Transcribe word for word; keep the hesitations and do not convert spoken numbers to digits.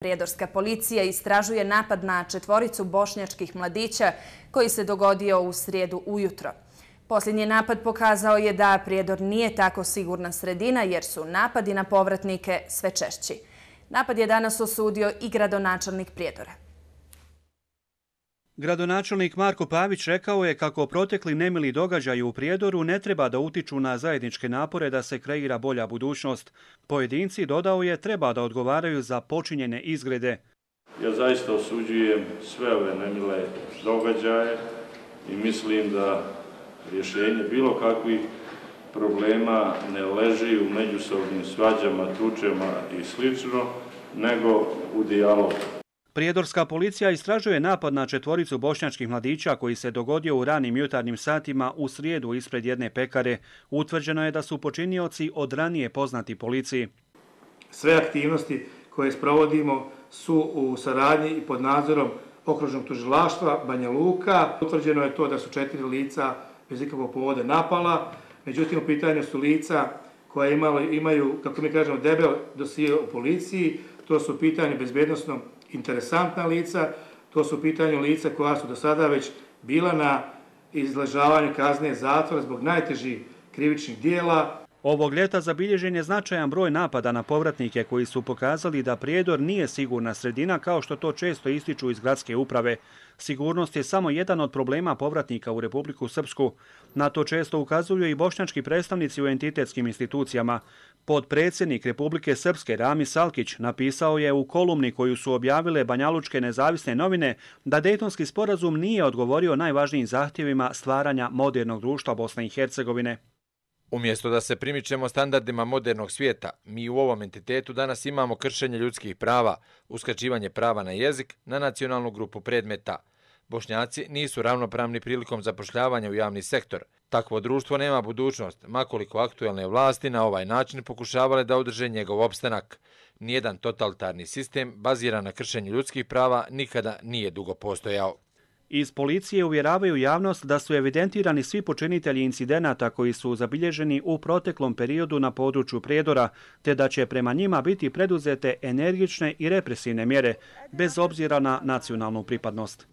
Prijedorska policija istražuje napad na četvoricu bošnjačkih mladića koji se dogodio u srijedu ujutro. Posljednji napad pokazao je da Prijedor nije tako sigurna sredina jer su napadi na povratnike sve češći. Napad je danas osudio i gradonačelnik Prijedora. Gradonačelnik Marko Pavić rekao je kako protekli nemili događaji u Prijedoru ne treba da utiču na zajedničke napore da se kreira bolja budućnost. Pojedinci, dodao je, treba da odgovaraju za počinjene izgrede. Ja zaista osuđujem sve ove nemile događaje i mislim da rješenje bilo kakvih problema ne leži u međusobnim svađama, tučama i slično, nego u dijalogu. Prijedorska policija istražuje napad na četvoricu bošnjačkih mladića koji se dogodio u ranim jutarnjim satima u srijedu ispred jedne pekare. Utvrđeno je da su počinioci od ranije poznati policiji. Sve aktivnosti koje sprovodimo su u saradnji i pod nadzorom okružnog tužilaštva Banja Luka. Utvrđeno je to da su četiri lica bez ikakvog povoda napala, međutim u pitanju su lica koja imali, imaju, kako mi kažemo, debel dosije u policiji. To su u pitanju bezbjednosno interesantna lica, to su u pitanju lica koja su do sada već bila na izležavanju kazne zatvora zbog najtežih krivičnih dijela. Ovog ljeta zabilježen je značajan broj napada na povratnike koji su pokazali da Prijedor nije sigurna sredina kao što to često ističu iz gradske uprave. Sigurnost je samo jedan od problema povratnika u Republiku Srpsku. Na to često ukazuju i bošnjački predstavnici u entitetskim institucijama. Podpredsjednik Republike Srpske Ramis Salkić napisao je u kolumni koju su objavile banjalučke nezavisne novine da Dejtonski sporazum nije odgovorio najvažnijim zahtjevima stvaranja modernog društva Bosne i Hercegovine. Umjesto da se primičemo standardima modernog svijeta, mi u ovom entitetu danas imamo kršenje ljudskih prava, uskraćivanje prava na jezik, na nacionalnu grupu predmeta. Bošnjaci nisu ravnopravni prilikom zapošljavanja u javni sektor. Takvo društvo nema budućnost, makoliko aktuelne vlasti na ovaj način pokušavale da održe njegov opstanak. Nijedan totalitarni sistem baziran na kršenju ljudskih prava nikada nije dugo postojao. Iz policije uvjeravaju javnost da su evidentirani svi počinitelji incidenata koji su zabilježeni u proteklom periodu na području Prijedora, te da će prema njima biti preduzete energične i represivne mjere, bez obzira na nacionalnu pripadnost.